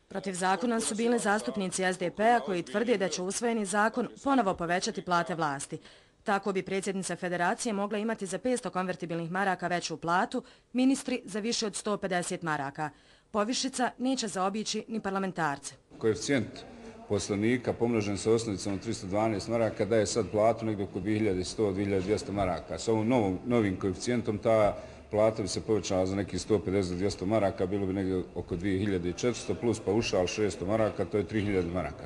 Protiv zakona su bili zastupnici SDP-a koji tvrde da će usvojeni zakon ponovo povećati plate vlasti. Tako bi predsjednica federacije mogla imati za 500 konvertibilnih maraka veću platu, ministri za više od 150 maraka. Povišica neće zaobići ni parlamentarce. Koeficijent poslanika pomnožen sa osnovicom od 312 maraka daje sad platu negdje oko 2100-2200 maraka. Sa ovom novim koeficijentom ta plata bi se povećala za nekih 150-200 maraka, bilo bi negdje oko 2400 plus paušal 600 maraka, to je 3000 maraka.